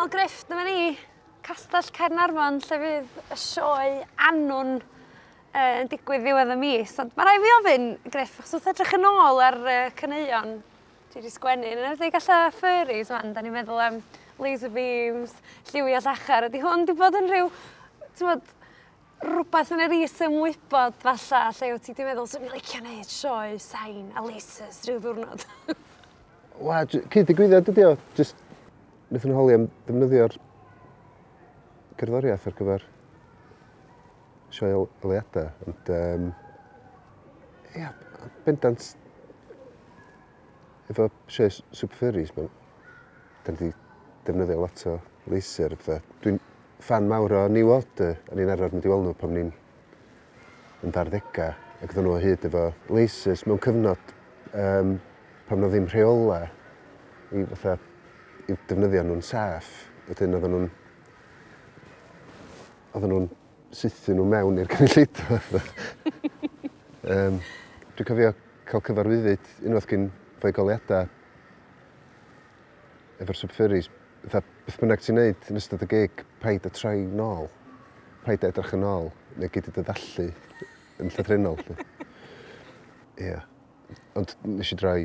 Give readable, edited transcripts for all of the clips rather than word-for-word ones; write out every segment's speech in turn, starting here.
Wel Griff, dyma ni, Castell Caernarfon, lle fydd y sioe Annwn yn digwydd ddiwedd y mis. Ond mae rhaid fi ofyn, Griff, achos wrth edrych yn ôl ar caneuon dwi wedi sgwennu, yn enwedig alla furries wan, da ni'n meddwl am laser beams, lliwiau llachar, ydy hwn di bod yn rhyw, ti'n rhywbeth yn yr is-ymwybod falla, lle wyt ti wedi meddwl, swn i'n licio gwneud sioe sain a lasers rhyw ddiwrnod? Wel, cyd-ddigwyddiad ydi o. Just, wnaethon nhw holi am ddefnyddio'r gerddoriaeth ar gyfer sioe oleuadau. Ond, ia, bendant, efo sioe Super Furries, da ni wedi defnyddio lot o laser a pethau. Dwi'n ffan mawr o New Order, a ni'n arfer mynd i weld nhw pan ni'n yn 20au, ac oedden nhw o hyd efo lasers mewn cyfnod pan oedd ddim rheola i fatha i defnyddio nhw'n saff. Wedyn oedden nhw'n sythu nhw mewn i'r cynulleidfa. Dwi'n cofio cael cyfarwyddyd unwaith gyn foi goleuadau efo'r Super Furries. Fatha, beth bynnag ti'n neud yn ystod y gig, paid a troi nôl. Paid a edrych yn ôl, neu gei di dy ddallu yn llythrennol. Ie. Ond nes i droi,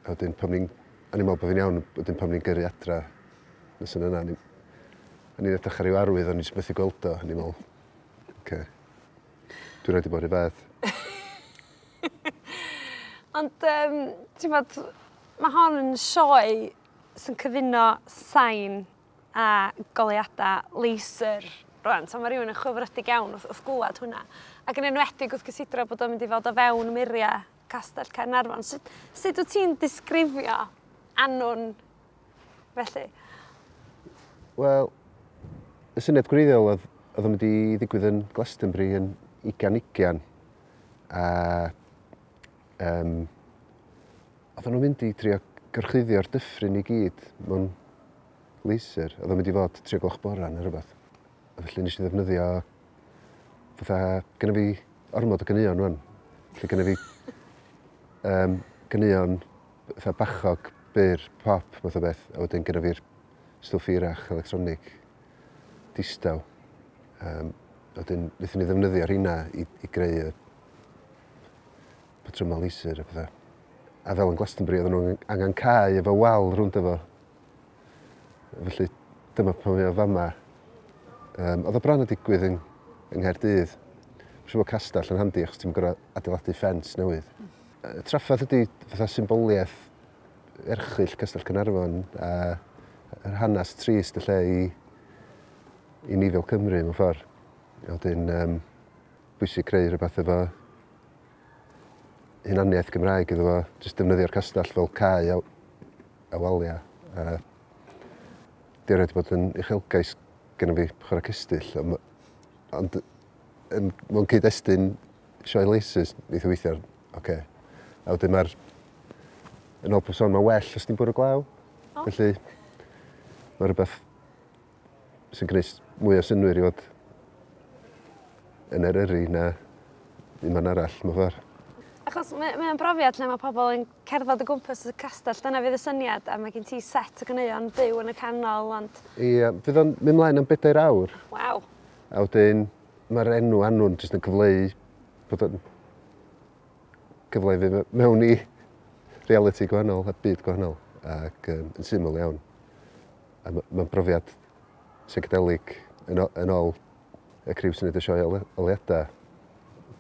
a wedyn pan ni'n... O'n i'n meddwl bod fi'n iawn, wedyn pan ni'n gyrru adra nes yn yna, o'n i'n edrych ar ryw arwydd, o'n i'n jyst methu gweld o, o'n i'n meddwl, oce, dwi'n rhaid i bod rhy fath. Ond, ti'n bod, mae hon yn sioe sy'n cyfuno sain a goleuadau laser rwan. So mae rhywun yn chwilfrydig iawn wrth glwad hwnna. Ac yn enwedig wrth gysidro bod o'n mynd i fod o fewn muriau Castell Caernarfon. Sut wyt ti'n disgrifio Annwn felly? Wel, y syniad gwreiddiol oedd o'n mynd i ddigwydd yn Glastonbury yn 2020. A oedden nhw'n mynd i drio gorchuddio'r dyffryn i gyd mewn laser. Oedd o'n mynd i fod 3 gloch bora neu rhywbeth. A felly nes i ddefnyddio fatha, gynna fi ormod o ganeuon rwan. Felly gynna fi ganeuon fatha bachog, byr, pop, math o beth. A wedyn gynna fi'r stwff hirach, electronig, distaw. A wedyn wnaethon ni ddefnyddio rheina i greu y patrymau laser a pethau. A fel yn Glastonbury, oedden nhw'n angen cae efo wal rownd efo. Felly dyma pan mae o fama. Oedd o bron yn digwydd yng Nghaerdydd. Mae'n siŵr bod castell yn handi achos ti'n gorfod adeiladu ffens newydd. Y trafferth ydy fatha symboliaeth erchyll Castell Caernarfon a yr hanes trist y lle i ni fel Cymru mewn ffordd. A wedyn bwysig creu rhywbeth efo hunaniaeth Gymraeg iddo fo, jyst defnyddio'r castell fel cae a waliau. A di erioed bod yn uchelgais gynna fi chwarae cestyll, ond mewn cyd-destun sioe lasers, wneith o weithio, oce. A wedyn mae'r, yn ôl pob sôn, mae'n well os ti'n bwrw glaw. Felly, mae rhywbeth sy'n gwneud mwy o synnwyr i fod yn Eryri na unman arall, mewn ffordd. Achos mae'n brofiad lle mae pobl yn cerdded o gwmpas y castell, dyna fydd y syniad, a mae gen ti set o ganeuon byw yn y canol, ond... Ie, fydd o'n mynd mlaen am 4 awr. Waw. A wedyn, mae'r enw Annwn jyst yn cyfleu bod o'n cyfleu fi mewn i reality gwahanol a byd gwahanol, ac yn syml iawn. A mae'n brofiad psychedelic yn ôl y criw sy'n neud y sioe oleuadau.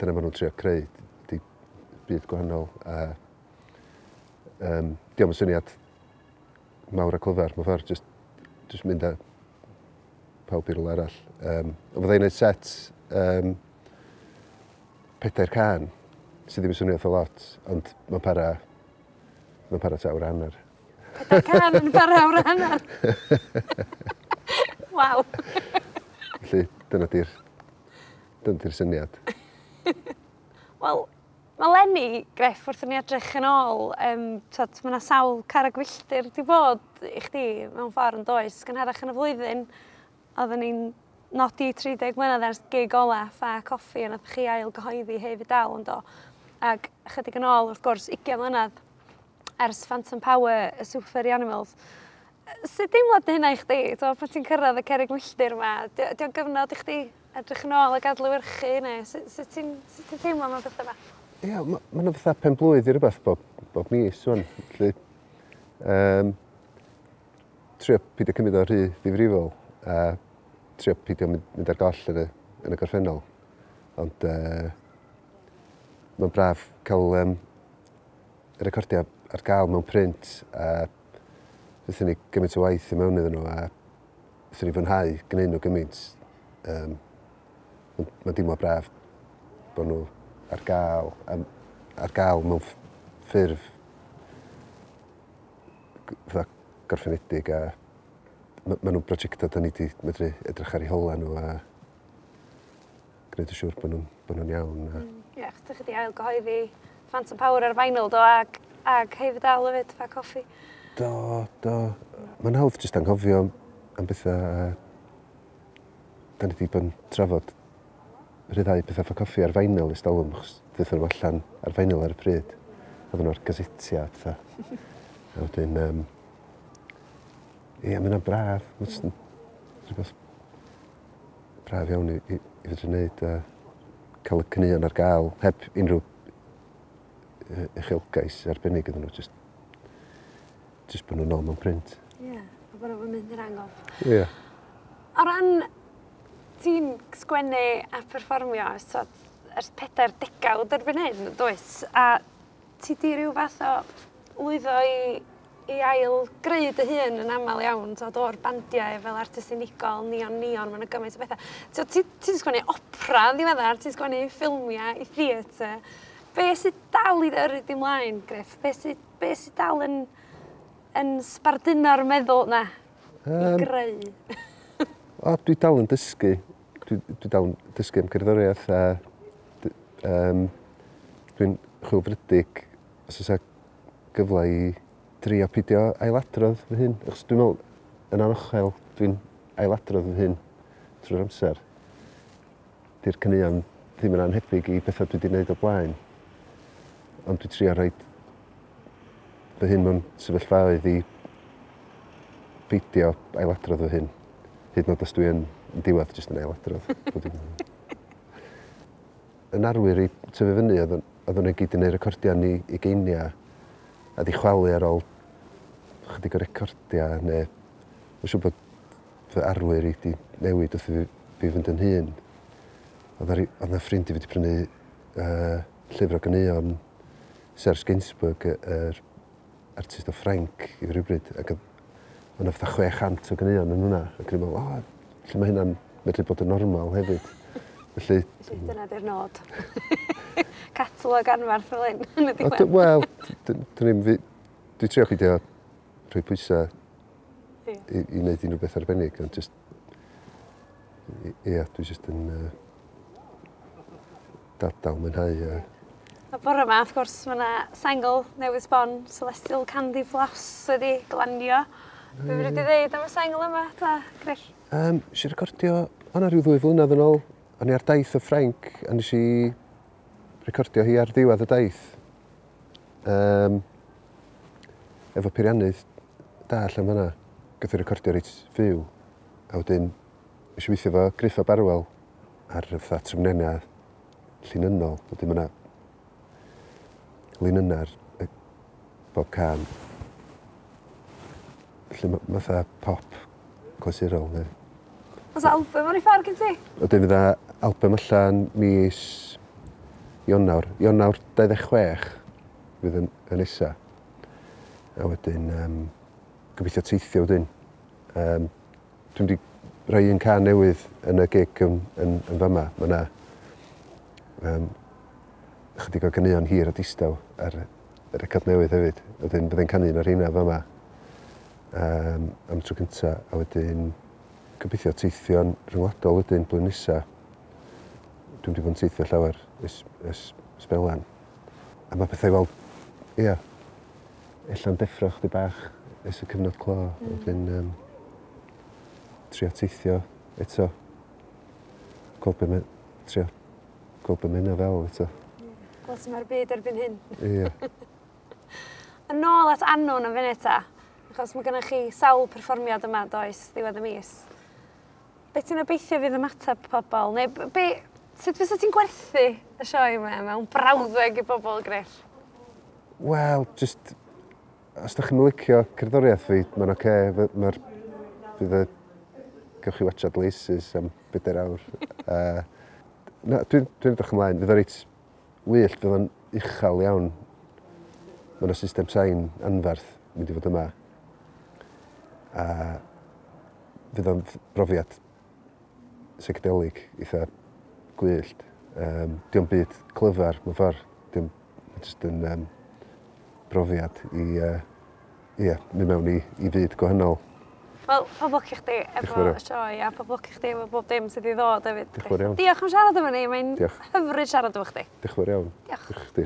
Dyna maen nhw'n trio creu, di byd gwahanol. A diolch yn syniad mawr a clyfar, mewn ffordd, just mynd â pawb i rywle arall. Ond fydda i'n neud set 4 cân, sydd ddim yn swnio eitha lot, ond mae'n para tua awr a hanner. 4 cân yn para awr a hanner? Waw! Felly, dyna di'r syniad. Wel, mae Lenny, Griff, wrth i ni edrych yn ôl, mae yna sawl carreg filltir di bod i chdi mewn ffordd yn does. Gynharach yn y flwyddyn, oedden ni'n nodi 30 mlynedd ers gig ola Ffa Coffi, a nath chi ail gyhoeddi Hei Fi Dal yn do. Ac chydig yn ôl, wrth gwrs, 20 mlynedd ers Phantom Power, y Super Furry Animals. Sut deimlad 'di hynna i chdi? T'mo' pan ti'n cyrraedd y cerrig milltir 'ma, 'di o'n gyfnod i chdi edrych yn ôl ac adlewyrchu neu sut ti'n sut ti'n teimlo am y petha 'ma? Ia, ma' 'na fatha pen-blwydd i rywbeth bob mis ŵan, felly trio pidio cymryd o rhy ddifrifol a trio pidio mynd ar goll yn y gorffennol. Ond mae'n braf cael y recordiau ar gael mewn print a wnaethon ni gymaint o waith i mewn iddyn nhw a wnaethon ni fwynhau gwneud nhw gymaint. Mae'n deimlo braf bod nhw ar gael mewn ffurf fatha gorffenedig a ma nhw'n brosiectau da ni wedi medru edrych ar eu hola nhw a gwneud yn siŵr bod nhw'n iawn. A... Ie, yeah, chdi wedi ail gyhoeddi Phantom Power ar vinyl do ag hefyd dal hefyd, Ffa Coffi. Do. Mae'n hawdd jyst anghofio am bethau a da ni wedi bod yn trafod rhyddhau pethau Ffa Coffi ar vinyl ers talwm, achos ddaethon nhw allan ar vinyl ar y pryd. Oedden nhw ar gasetia a pethau. A wedyn, ie, mae hynna'n braf. Mae'n jyst yn rhywbeth braf iawn i fedru wneud a cael y caneuon ar gael heb unrhyw uchelgais arbennig iddyn nhw. Just bod nhw'n ôl mewn print. Ie, yeah, a bod nhw'n mynd i'r angof. Ie. Yeah. O ran ti'n sgwennu a perfformio so, ers 40 degawd erbyn hyn, does? A ti di ryw fath o lwyddo i ail greu dy hun yn aml iawn, t'od, o'r bandiau fel artist unigol, Neon Neon, mae'n gymaint o bethau. T'od, ti sgwennu opera yn ddiweddar, ti'n sgwennu ffilmiau i theatr. Be sydd dal i yrru di mlaen, Griff? Be sydd dal yn sbarduno'r meddwl na i greu? O, dwi dal yn dysgu. Dwi dal yn dysgu am cerddoriaeth a dwi'n chwilfrydig os oes gyfle i drio pidio ailadrodd fy hun. Achos dwi'n meddwl, yn anochel, dwi'n ailadrodd fy hun trwy'r amser. Di'r caneuon ddim yn anhebyg i bethau dwi wedi gwneud o blaen. Ond dwi'n trio rhoi fy hun mewn sefyllfaoedd i beidio ailadrodd fy hun. Hyd yn oed os dwi yn diwedd jyst yn ailadrodd. Yn arwyr i tyfu fyny, oedden nhw gyd yn gwneud recordiau yn ei ugeiniau a di chwalu ar ôl chydig o recordiau neu mae'n siŵr bod fy arwyr i di newid wrth i fi fynd yn hŷn. Oedd 'na ffrind i fi wedi prynu llyfr o ganeuon Serge Gainsbourg, yr artist o Ffrainc i fi rhywbryd, ac oedd 'na fatha 600 o ganeuon yn hwnna. Ac o'n i'n meddwl, o, lle mae hynna'n medru bod yn normal hefyd. Felly, Dyna di'r nod. Catalog anfarth fel hyn yn y O, diwedd. Wel, dyn ni'n dwi trio peidio rhoi pwysau i wneud unrhyw beth arbennig, ond just, ia, dwi just yn dal mwynhau. A bore yma, wrth gwrs, mae yna sengl newydd sbon, Celestial Candy Floss, wedi glanio. Be fyddi di ddeud am y sengl yma, ta, Griff? Nes i recordio, o'na rhyw 2 flynedd yn ôl, o'n i ar daith o Ffrainc, a nes i recordio hi ar ddiwedd y daith. Efo peiriannydd da allan fan'na. Gath i recordio reit fyw. A wedyn, nes i weithio efo Griff ab Arwel ar fatha trefnennau llinynnol. Wedyn ma' 'na linynnau ar bob cân. Felly fatha pop clasurol. Neu. Oes album ar ei ffordd gen ti? Wedyn fydda album allan mis Ionawr. Ionawr 26 fydd yn nesa. A wedyn, gobeithio teithio wedyn. Dwi'n wedi rhoi un cân newydd yn y gig yn fama. Mae yna chydig o ganeuon hir a distaw ar y record newydd hefyd. Wedyn byddai'n canu un o'r rheina fama am y tro cynta. A wedyn gobeithio teithio'n rhyngwladol wedyn blwyddyn nesa. Dwi'n wedi bod yn teithio llawer ers sbelan. A mae pethau fel, ia, ella'n deffro chdi bach ers y cyfnod clo. Wedyn, trio teithio eto. Gweld be mae, trio gweld be mae hynna fel eto. Gweld sut mae'r byd erbyn hyn. Ia. Yn ôl at Annwn yn funud ta. Achos mae gennych chi sawl perfformiad yma, does, ddiwedd y mis. Be ti'n obeithio fydd ymateb pobl? Neu be, sut fysa ti'n gwerthu y sioe yma mewn brawddeg i bobl, Griff? Wel, just, os da chi'n licio cerddoriaeth fi, mae'n oce. Okay. Mae'r, fydd y, gewch chi watchad Laces am 4 awr. Na, dwi edrych ymlaen. Fydd o reit wyllt, fydd o'n uchel iawn. Mae yna system sain anferth mynd i fod yma. A fydd o'n brofiad psychedelic eitha gwyllt. Dio'm byd clyfar mewn ffordd. Dio'n just yn brofiad i yeah, mynd mewn i fyd gwahanol. Wel, pob lwc i chdi efo y sioe a pob lwc i chdi efo bob dim sydd i ddod hefyd. Diolch yn fawr iawn. Diolch am siarad efo ni, mae'n hyfryd siarad efo chdi. Diolch yn fawr iawn. Diolch. Diolch chdi.